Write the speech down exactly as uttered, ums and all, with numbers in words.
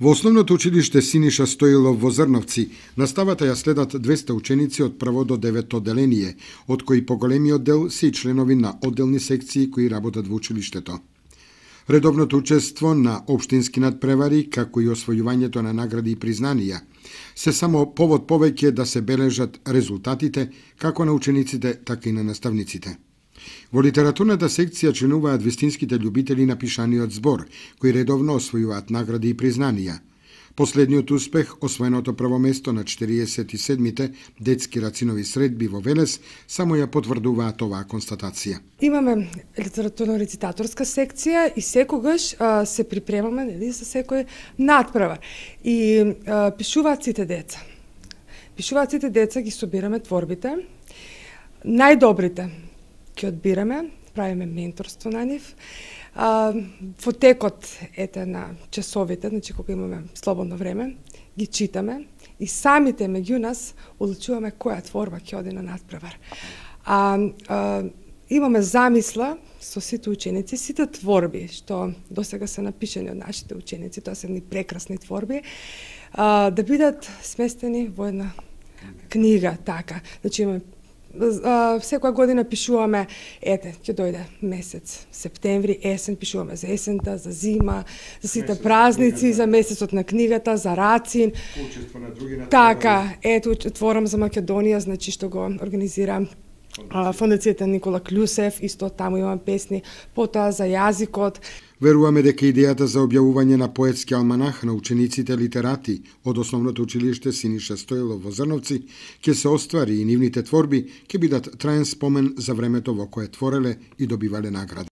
Во основното училиште Синиша Стоилов во Зрновци наставата ја следат двеста ученици од прво до девето одделение, од кои поголемиот дел се и членови на одделни секции кои работат во училиштето. Редовното учество на општински надпревари, како и освојувањето на награди и признанија, се само повод повеќе да се бележат резултатите како на учениците, така и на наставниците. Во литературната секција членуваат вистинските љубители на пишаниот збор, кои редовно освојуваат награди и признанија. Последниот успех, освоеното прво место на четириесет и седмите детски рацинови средби во Велес, само ја потврдуваат оваа констатација. Имаме литературно-рецитаторска секција и секогаш а, се припремаме нели, за секој надпревар. И а, пишуваат сите деца. Пишуваат сите деца, ги собираме творбите. Најдобрите ќе одбираме, правиме менторство на нив. А, во текот ете на часовите, значи кога имаме слободно време, ги читаме и самите меѓу нас одлучуваме која творба ќе оди на надпревар. А, а, имаме замисла со сите ученици, сите творби што досега се напишани од нашите ученици, тоа се едни прекрасни творби, а, да бидат сместени во една книга, така. Значи имаме Uh, секоја година пишуваме, ете, ќе дојде месец септември, есен, пишуваме за есента, за зима, за сите месец празници, за месецот на книгата, за Рацин. Учество на други на така, ето, Отворам за Македонија, значи што го организира Фондацијата Никола Клюсев, исто таму имам песни, потоа за јазикот. Веруваме дека идејата за објавување на поетски алманах на учениците литерати од основното училиште Синиша Стоилов во Зрновци ќе се оствари и нивните творби ќе бидат траен спомен за времето во кое твореле и добивале награди.